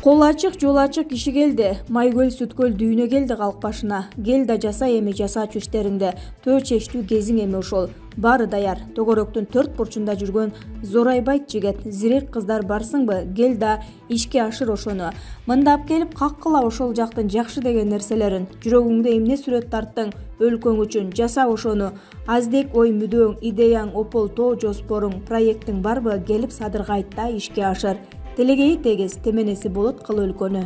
Кол ачык, жол ачык киши келди. Майкөл, Сүткөл дүйнө келди калк башына. Кел да жаса эми жасачу иштериңди. Төө чечтүү кезиң эми ошол. Баары даяр. Төгөрөктүн төрт бурчунда жүргөн зорайбайт жигет. Зирек кыздар барсыңбы? Кел да ишке ашыр ошону. Мындап келип каккыла ошол жактын жакшы деген нерселерин. Жүрөгүңдө эмне сүрөт тарттың өлкөң үчүн? Жаса ошону. Аздек ой мүдөөң, идеяң, опол тоо жоспоруң, проекттиң барбы? Келип Садырга айт да ишке ашыр. Телегейи тегиз, теменеси болот кыл өлкөнү.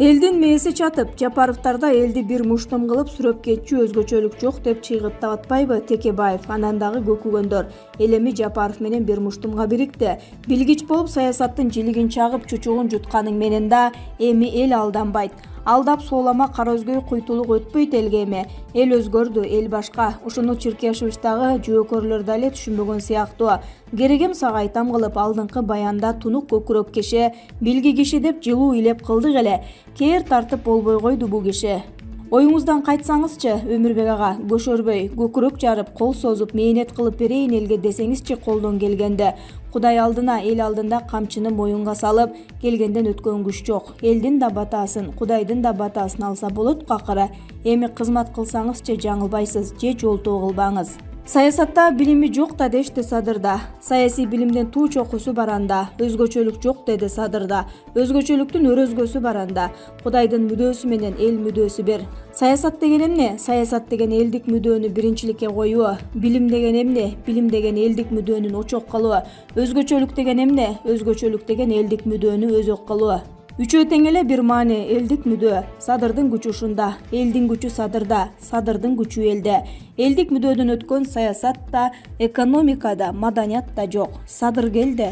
Элдин мээси чатып, Жапаровдордо элди бир муштум кылып сүрөп кетчү өзгөчөлүк жок деп чыйгыттап атпайбы Текебаев? Анан дагы көкүгөндөр. Эл эми Жапаров менен бир муштумга бирикти. Билгич болуп саясаттын жилигин чагып чучугун жутканың менен да эми эл алданбайт. Алдап соолама кара өзгөй куйтулук өтпөйт элге эми. Эл өзгөрдү, эл башка. Ушуну Черкешевичтагы жөөкөрлөр дале түшүнбөгөн сыяктуу. Керегем сага айтам кылып алдыңкы баянда тунук көкүрөк киши, билги киши деп жылуу илеп кылдык эле. Кээр тартып болбой койду бул киши. Оюңуздан кайтсаңызчы, Өмүрбек ага, көшөрбөй, көкүрөк жарып, кол созуп, мээнет кылып берейин элге десеңизчи колдон келгенде. Кудай алдына, эл алдында камчыны моюнга салып, келгенден өткөн күч жок. Элдин да батасын, Кудайдын да батасын алса болот акыры. Эми кызмат кылсаңызчы жаңылбайсыз, же жолтоо кылбаңыз. Саясатта билими жок да дешти Садырда. Саясий билимден туу чокусу бар анда. Өзгөчөлүк жок деди Садырда. Өзгөчөлүктүн өрөзгөсү бар анда. Кудайдын мүдөөсү менен эл мүдөөсү бир. Саясат деген эмне? Саясат деген элдик мүдөөнү биринчиликке коюу. Билим деген эмне? Билим деген элдик мүдөөнүн очок кылуу. Өзгөчөлүк деген эмне? Өзгөчөлүк деген элдик мүдөөнү өзөк кылуу. Үчөө тең эле бир маани, элдик мүдөө. Садырдын күчү ушунда, элдин күчү Садырда, Садырдын күчү элде. Элдик мүдөөдөн өткөн саясат да, экономика да, маданият да жок. Садыр келди.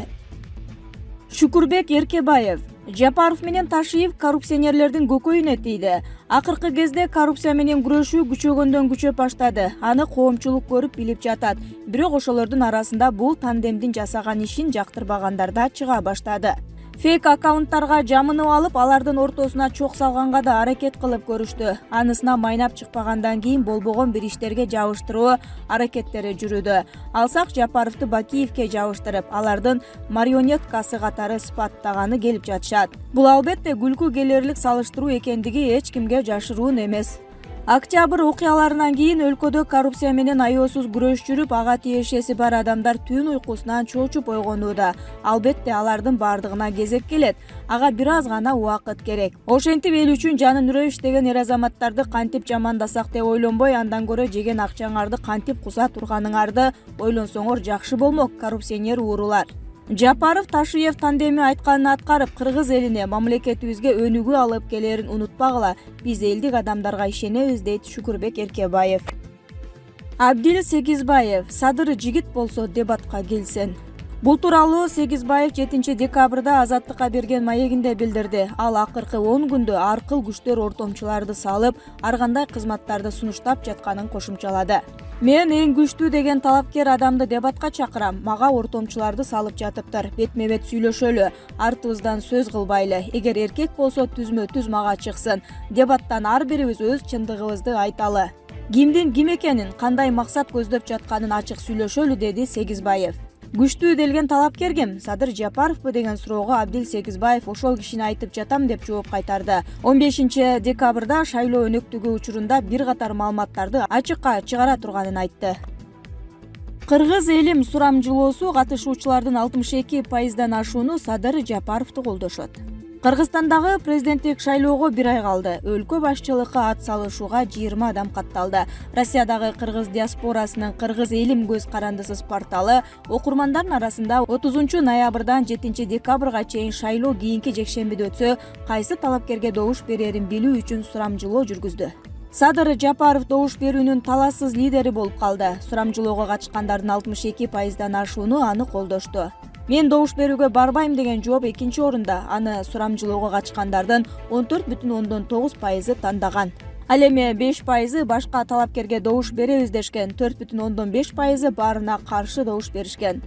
Шүкүрбек Эркебаев. Жапаров менен Ташиев коррупционерлердин көкөйүнө тийди. Акыркы кезде коррупция менен күрөшүү күчөгөндөн күчөп баштады. Аны коомчулук көрүп билип жатат. Бирок ошолордун арасында бул тандемдин жасаган ишин жактырбагандар да чыга баштады. Фейк аккаунттарга жамынып алып, алардын ортосуна чок салганга да аракет кылып көрүштү. Анысына майнап чыкпагандан кийин болбогон бир иштерге жабыштыруу аракеттери жүрүүдө. Алсак Жапаровду Бакиевке жабыштырып, алардын марионеткасы катары сыпаттаганы келип жатышат. Бул албетте күлкү келерлик салыштыруу экендиги эч кимге жашыруун эмес. Октябрь окуяларынан кийин өлкөдө коррупция менен аеосуз күрөш жүрүп, ага тиешеси бар адамдар түн уйкусунан чочуп ойгонууда. Албетте алардын бардыгына кезек келет. Ага бир аз гана убакыт керек. Ошентип эл үчүн жанын үрөй иштеген эр азаматтарды кантип жамандасак деп ойлонбой, андан көрө жеген акчаңарды кантип куса турганыңарды ойлонсоңор жакшы болмок, коррупционер уурулар. Жапаров Ташиев тандеми айтканын аткарып, кыргыз элине, мамлекетибизге өнүгүү алып келерин унутпагыла. Биз элдик адамдарга ишенебиз, дейт Шүкүрбек Эркебаев. Абдил Сегизбаев. Садыр жигит болсо дебатка келсин. Бул тууралуу Сегизбаев 7 декабрда Азаттыкка берген маегинде билдирди. Ал акыркы 10 күндө ар кыл күчтөр ортомчуларды салып, ар кандай кызматтарды сунуштап жатканын кошумчалады. Мен эң күчтүү деген талапкер адамды дебатка чакырам. Мага ортомчуларды салып жатыптыр. Бетме-бет сүйлөшөлү, артыбыздан сөз кылбайлы. Эгер эркек болсо түзмө-түз мага чыксын. Дебаттан ар бирибиз өз чындыгыбызды айталы. Кимдин ким экенин, кандай максат көздөп жатканын ачык сүйлөшөлү, деди Сегизбаев. Күчтүү делген талапкер ким? Садыр Жапаровбу деген суроого Абдил Сегизбаев ошол кишини айтып жатам деп жооп кайтарды. 15 декабрда шайлоо өнөктүгү учурунда бир катар маалыматтарды ачыкка чыгара турганын айтты. Кыргыз элим сурамжылоосу катышуучулардын 62% ашууну Садыр Жапаровду колдошот. Кыргызстандагы президенттик шайлоого бир ай калды. Өлкө башчылыкка ат салышууга 20 адам катталды. Россиядагы кыргыз диаспорасынын Кыргыз элим көз карандысыз порталы окурмандардын арасында 30 ноябрдан 7 декабрга чейин шайлоо кийинки жекшембиде өтсө, кайсы талапкерге добуш берерин билүү үчүн сурамжылоо жүргүздү. Садыр Жапаров добуш берүүнүн талассыз лидери болуп калды. Сурамжылоого катышкандардын 62% ашууну аны колдошту. Мен добуш берүүгө барбайм деген жооп экинчи орунда. Аны сурамжылоого катышкандардын 14,9% тандаган. Ал эми 5% башка талапкерге добуш беребиз дешкен, 4,5% баарына каршы добуш беришкен.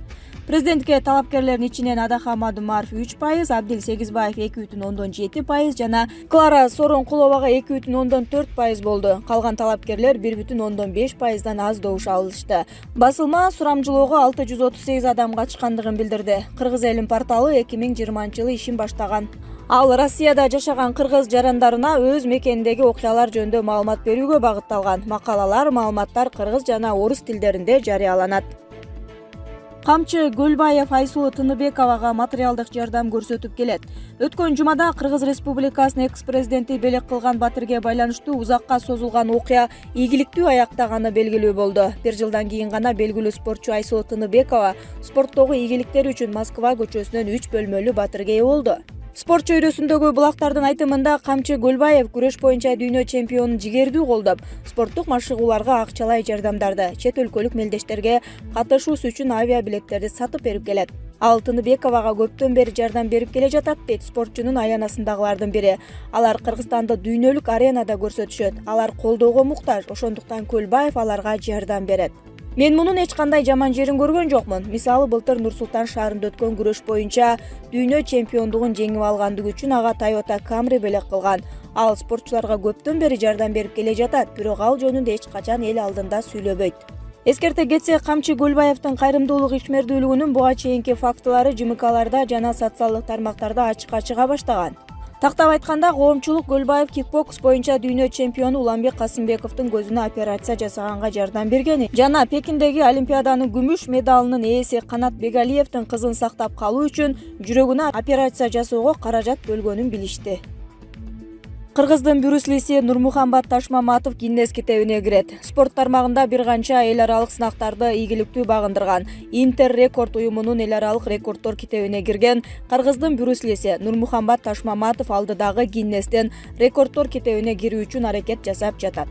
Президентке талапкерлердин ичинен Адаха Мадумаров 3%, Абдил Сегизбаев 2,7% жана Клара Соронкуловага 2,4% болду. Калган талапкерлер 1,5%дан аз добуш алышты. Басылма сурамжылоого 638 адам катышкандыгын билдирди. Кыргыз элин порталы 2020-жылы ишин баштаган. Ал Россияда жашаган кыргыз жарандарына өз мекениндеги окуялар жөнүндө маалымат берүүгө багытталган. Макалалар, маалыматтар кыргыз жана орус тилдеринде жарыяланат. Камчы Гөлбаев Айсулу Тыныбековага материалдык жардам көрсөтүп келет. Өткөн жумада Кыргыз Республикасынын экс-президенти белек кылган батирге байланыштуу узакка созулган окуя ийгиликтүү аяктаганы белгилүү болду. Бир жылдан кийин гана белгилүү спортчу Айсулу Тыныбекова спорттогу ийгиликтери үчүн Москва көчөсүнөн 3 бөлмөлүү батирге ээ болду. Спорт чөйрөсүндөгү булактардын айтымында Камчы Гөлбаев күрөш боюнча дүйнө чемпионун жигердүү колдоп, спорттук машыгууларга акчалай жардамдарды, чет өлкөлүк мелдештерге катышуусу үчүн авиабилеттерди сатып берип келет. Ал Тыныбековага көптөн бери жардам берип келе жатат дейт спортчунун аянасындагылардын бири. Алар Кыргызстанды дүйнөлүк аренада көрсөтүшөт. Алар колдоого муктаж, ошондуктан Гөлбаев аларга жардам берет. Мен мунун эч кандай жаман жерин көргөн жокмун. Мисалы, былтыр Нур-Султан шаарында өткөн күрөш боюнча дүйнө чемпиондугун жеңип алгандыгы үчүн ага Toyota Camry белек кылган. Ал спортчуларга көптөн бери жардам берип келе жатат, бирок ал жөнүндө эч качан эл алдында сүйлөбөйт. Эскерте кетсек, Камчы Гөлбаевдин кайрымдуулук ишмердүүлүгүнүн буга чейинки фактылары ЖМКларда жана социалдык тармактарда ачыкка чыга баштаган. Тактап айтканда, коомчулук Гөлбаев кикбокс боюнча дүйнө чемпиону Уланбек Касымбековдун көзүнө операция жасаганга жардам бергени жана Пекиндеги Олимпиаданын күмүш медалынын ээси Канат Бегалиевдин кызын сактап калуу үчүн жүрөгүнө операция жасоого каражат бөлгөнүн билишти. Кыргыздын Брюслиси Нурмухамбат Ташмаматов Гиннес китебине кирет. Спорт тармагында бир канча эл аралык сынактарды ийгиликтүү багындырган. Интер рекорд уюмунун эл аралык рекорддор китебине кирген Кыргыздын Брюслиси Нурмухамбат Ташмаматов алдыдагы Гиннестен рекорддор китебине кирүү үчүн аракет жасап жатат.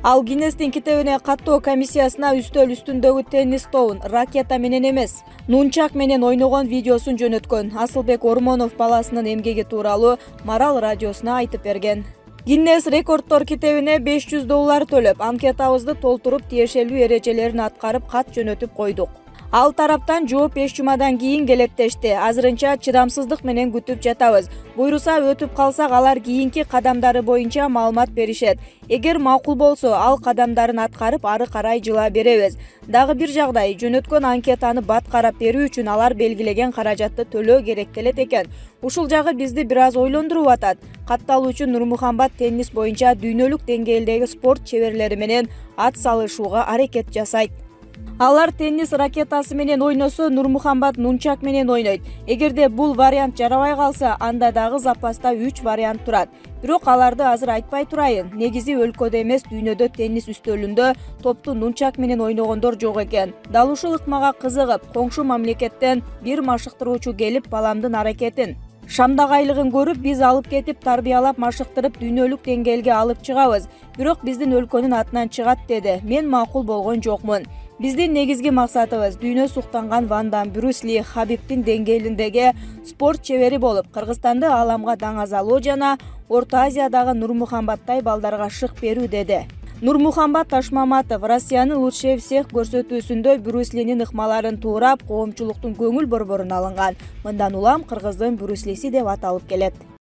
Ал Гиннестин китебине каттоо комиссиясына үстөл үстүндөгү теннис тобун ракета менен эмес, нунчак менен ойногон видеосун жөнөткөн. Асылбек Ормонов баласынын эмгеги тууралуу Марал радиосуна айтып берген. Гиннес рекорддор китебине $500 төлөп, анкетабызды толтуруп, тиешелүү эрежелерин аткарып, кат жөнөтүп койдук. Ал тараптан жооп 5 жумадан кийин келет дешти. Азырынча чыдамсыздык менен күтүп жатабыз. Буйруса өтүп калсак, алар кийинки кадамдары боюнча маалымат беришет. Эгер макул болсо, ал кадамдарын аткарып, ары карай жыла беребиз. Дагы бир жагдай, жөнөткөн анкетаны бат карап берүү үчүн алар белгилеген каражатты төлөө керектелет экен. Ушул жагы бизди бир аз ойлондуруп атат. Катталуучу Нурмухамбат теннис боюнча дүйнөлүк деңгээлдеги спорт чеберлери менен ат салышууга аракет жасайт. Алар теннис ракетасы менен ойносо, Нурмухамбат нунчак менен ойнойт. Эгерде бул вариант жарабай калса, анда дагы запаста 3 вариант турат. Бирок аларды азыр айтпай турайын. Негизи өлкөдө эмес, дүйнөдө теннис үстөлүндө топту нунчак менен ойногондор жок экен. Дал ушул ыкмага кызыгып, коңшу мамлекеттен бир машыктыруучу келип, баламдын аракетин, шамдагайлыгын көрүп, биз алып кетип, тарбиялап, машыктырып, дүйнөлүк деңгээлге алып чыгабыз. Бирок биздин өлкөнүн атынан чыгат деди. Мен макул болгон жокмун. Биздин негизги максатыбыз дүйнө суктанган Ван Дам, Брюс Ли, Хабибдин деңгээлиндеги спорт чебери болуп, Кыргызстанды ааламга даңазалоо жана Орто Азиядагы Нурмухамбаттай балдарга шык берүү деди. Нурмухамбат Ташмаматов Россиянын лучший всех көрсөтүүсүндө Брюс Линин ыкмаларын туурап, коомчулуктун көңүл борборун алынган. Мындан улам Кыргыздын Брюс Лиси деп аталып келет.